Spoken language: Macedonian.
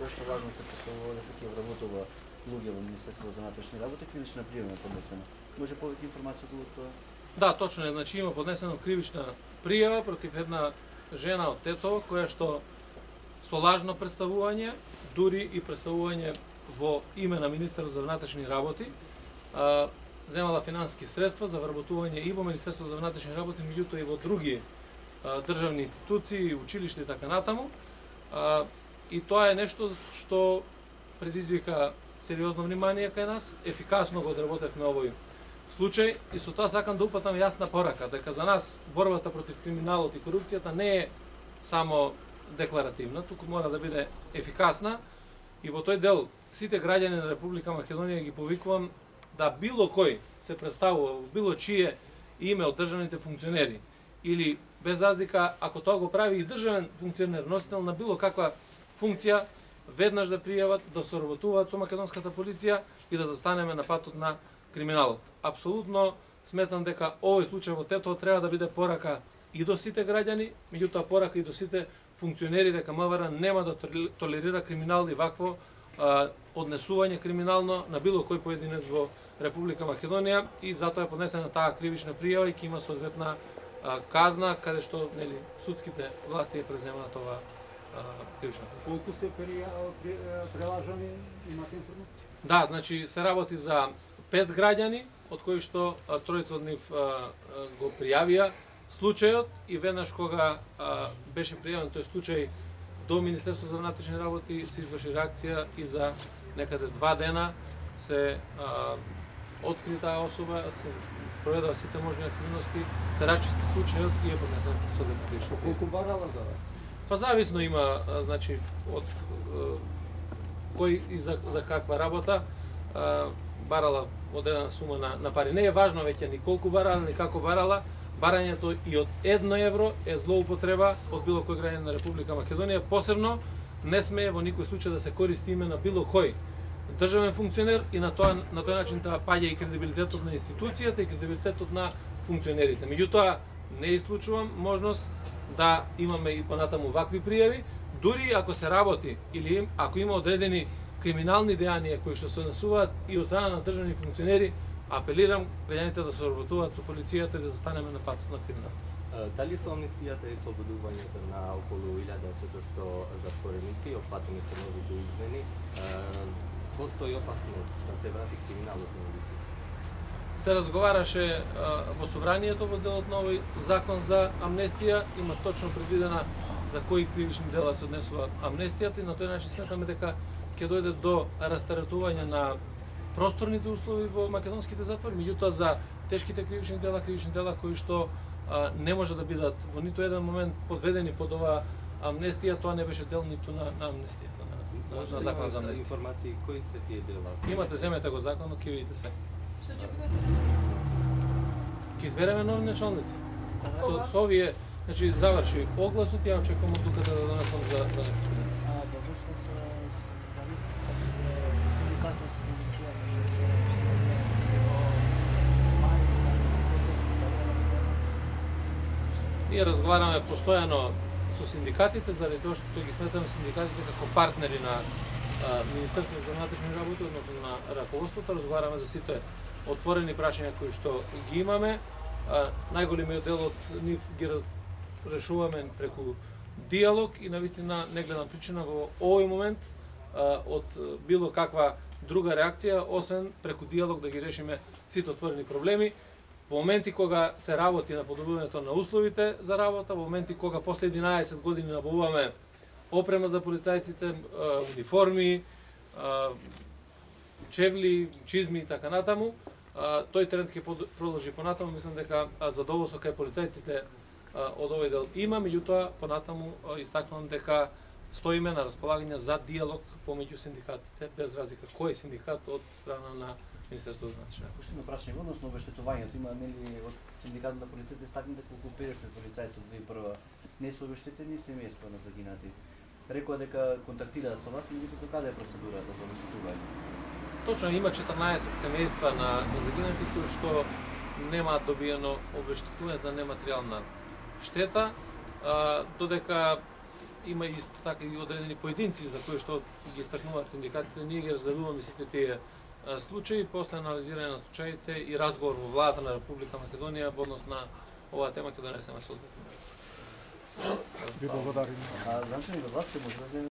тоа што важно се представува дека ќе вработува луѓе во Министерството за внатрешни работи, кривична пријава е поднесена. Може повеќе информација околу тоа? Да, точно е, значи има поднесена кривична пријава против една жена од Тетово која што со лажно представување, дури и представување во име на Министерот за внатрешни работи, земала финансиски средства за вработување и во Министерството за внатрешни работи, меѓутоа и во други државни институции, училишта и така натаму. И тоа е нешто што предизвика сериозно внимание кај нас, ефикасно го одработевме овој случај и со тоа сакам да упатам јасна порака дека за нас борбата против криминалот и корупцијата не е само декларативна, туку мора да биде ефикасна и во тој дел сите граѓани на Република Македонија ги повикувам да било кој се представува во било чие име од државните функционери или без разлика ако тоа го прави и државен функционер, носител на било каква функција, веднаш да пријават, да соработуваат со македонската полиција и да застанеме на патот на криминалот. Апсолутно сметам дека овој случај во Тетово треба да биде порака и до сите граѓани, меѓутоа порака и до сите функционери дека МВР нема да толерира криминал и вакво однесување криминално на било кој поединец во Република Македонија и затоа е поднесена таа кривична пријава и ќе има соодветна казна каде што нели судските власти ја преземаат ова кривична пријава. Колку се прелажани имате информација? Да, значи се работи за 5 граѓани, од кои што тројца од нив го пријавија случајот и веднаш кога беше пријавен тој случај до Министерството за внатрешни работи се изврши реакција и за некаде 2 дена се откри таа особа, се спроведува сите можни активности, се расчисти случајот и е поднесен соодветна кривична пријава. Колку барала за? Па зависно има, значи, од кој и за каква работа барала одредена сума на пари. Не е важно веќе ни колку барала, ни како барала. Барањето и од 1 евро е злоупотреба од било кој граѓанин на Република Македонија. Посебно не смее во никој случај да се користи име на било кој државен функционер и на тој начин да паѓа и кредибилитетот на институцијата и кредибилитетот на функционерите. Меѓутоа не исклучувам можност да имаме и понатаму вакви пријави, дури ако се работи или ако има одредени криминални дејанија кои што се однесуваат и од страна на државни функционери, апелирам граѓаните да соработуваат со полицијата и да застанеме на патот на криминал. Дали со амнестијата и слободувањето на околу 1400 затвореници, опфатени со новите измени, постои опасност да се врати криминалот на улиците? Се разговараше во собранието во делот на овој закон за амнестија, има точно предвидена за кои кривични дела се однесува амнестијата и на тој начин сметаме дека ќе дојде до растаретување на просторните услови во македонските затвори, меѓутоа за тешките кривични дела кои што не може да бидат во ниту еден момент подведени под оваа амнестија, тоа не беше дел ниту на амнестијата, на закон за амнестија. Информации кои се тие дела? Имате, земете го законот, ќе видите се. Што ќе биде се? Ќе избереме нови началници. Со овие, значи заврши огласот, ја очекувам од тука да донесам за нешто. Во врска со синдикатот Ние разговараме постојано со синдикатите, заради тоа што ги сметаме синдикатите како партнери на Министерството за внатрешни работи, односно на раководството. Разговараме за сите отворени прашања кои што ги имаме. Најголемиот дел од нив ги решуваме преку диалог и навистина не гледам причина во овој момент од било каква друга реакција, освен преку диалог да ги решиме сите отворени проблеми. Во моменти кога се работи на подобрувањето на условите за работа, во моменти кога после 11 години набавуваме опрема за полицајците, униформи, чевли, чизми и така натаму, тој тренд ќе продолжи понатаму. Мислам дека задоволство кај полицајците од овој дел има, меѓутоа понатаму истакнувам дека стоиме на располагање за диалог помеѓу синдикатите, без разлика кој синдикат од страна на Министерството за внатрешни работи. Што има прашање односно обештетувањето, има нели од синдикатот на полицијата истакнете колку 50 полицајци од 2001 не се обештетени семејства на загинати. Рекоа дека контактираат со вас, меѓутоа каде е процедурата за обештетување? Точно има 14 семејства на загинати кои што немаат добиено обештетување за нематеријална штета, додека има исто така и одредени поединци за кои што ги истакнуваат синдикатите. Ние ги разгледуваме сите тие случаи, после анализирање на случаите и разговор во владата на Република Македонија во однос на оваа тема ќе донесеме соодветно. Ви благодарим. Значи, да вас се може да